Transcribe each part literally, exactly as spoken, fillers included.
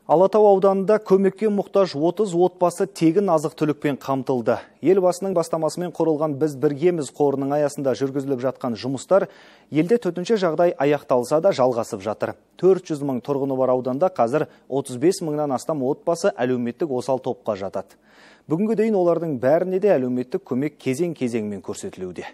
Алатау ауданында көмекке мұқтаж отыз отбасы тегін азық-түлікпен қамтылды. Елбасының бастамасымен құрылған Біз біргеміз қорының аясында жүргізіліп жатқан жұмыстар елде төтенше жағдай аяқталса да жалғасып жатыр. төрт жүз мың тұрғыны бар ауданда қазір отыз бес мыңнан астам отбасы әлеуметтік осал топқа жатады. Бүгінгі дейін олардың бәріне де әлеуметтік көмек кезең-кезеңмен көрсетілуде.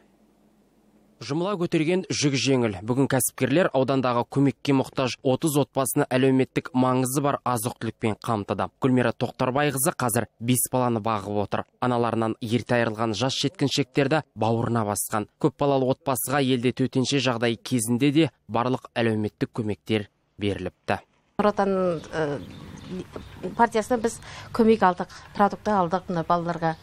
Жұмыла көтерген жүк жеңіл. Бүгін кәсіпкерлер аудандағы көмекке мұқтаж отыз отбасыны әлеуметтік маңызы бар азық-түлікпен қамтыды. Гүлмира Тоқтарбайқызы қазір бес баланы бағып отыр. Аналарынан ерте айырылған жас жеткіншектерді бауырына басқан. Көп балалы отбасыға елде төтенше жағдай кезінде де барлық әлеуметтік көмектер беріліпті. Нұр Отан партиясына біз көмек алдық, продукты алдық балаларға.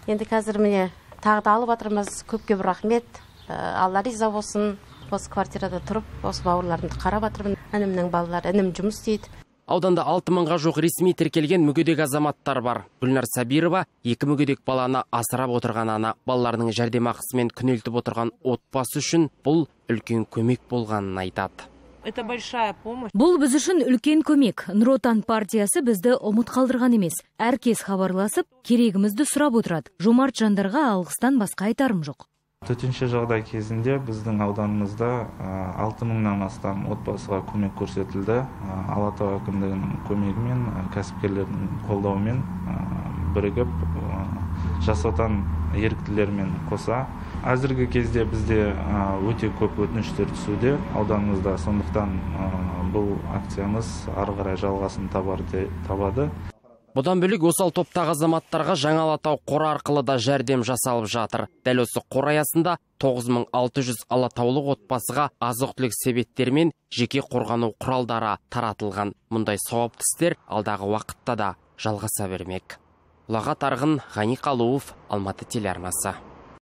Енді қазір міне тағы да алып жатырмыз. Көпке бір рахмет. Алла риза болсын. Осы квартирада тұрып, осы бауырларымды қарап жатырмын. Інімнің балалары, інім жұмыс істейді. Ауданда алты мыңға жоқ ресми тіркелген мүгедек азаматтар бар. Гүлнар Сабирова екі мүгедек баланы асырап отырған ана. Балаларының жәрдемақысымен күнелтіп отырған отбасы үшін бұл үлкен көмек болғанын айтады. Это большая помощь. Бұл біз үшін үлкен көмек. Нұр Отан партиясы бізді ұмыт қалдырған емес. Әркез хабарласып, керегімізді сұрап отырады. Жомарт жандарға алғыстан басқа айтарым жоқ. Төтенше жағдай кезінде біздің ауданымызда алты мыңнан астам отбасыға көмек көрсетілді. Алатау әкімдігінің көмегімен, кәсіпкерлердің қолдауымен бірігіп Жас Отан еріктілермен қоса. Әзіргі кезде бізде өте көп өтініштер түсуде ауданымызда, сондықтан бұл акциямыз ары қарай жалғасын табады. Бұдан бөлек осал топтағы азаматтарға жаңа Алатау қоры арқылы да жәрдем жасалып жатыр. Дәл осы қор аясында тоғыз мың алты жүз алатаулық отбасыға азық-түлік себеттері мен жеке қорғану құралдары таратылған. Мұндай сауапты істер алдағы уақытта да жалғаса бермек. Ұлағат Арғын, Ғани Қалуов, Алматы телеарнасы.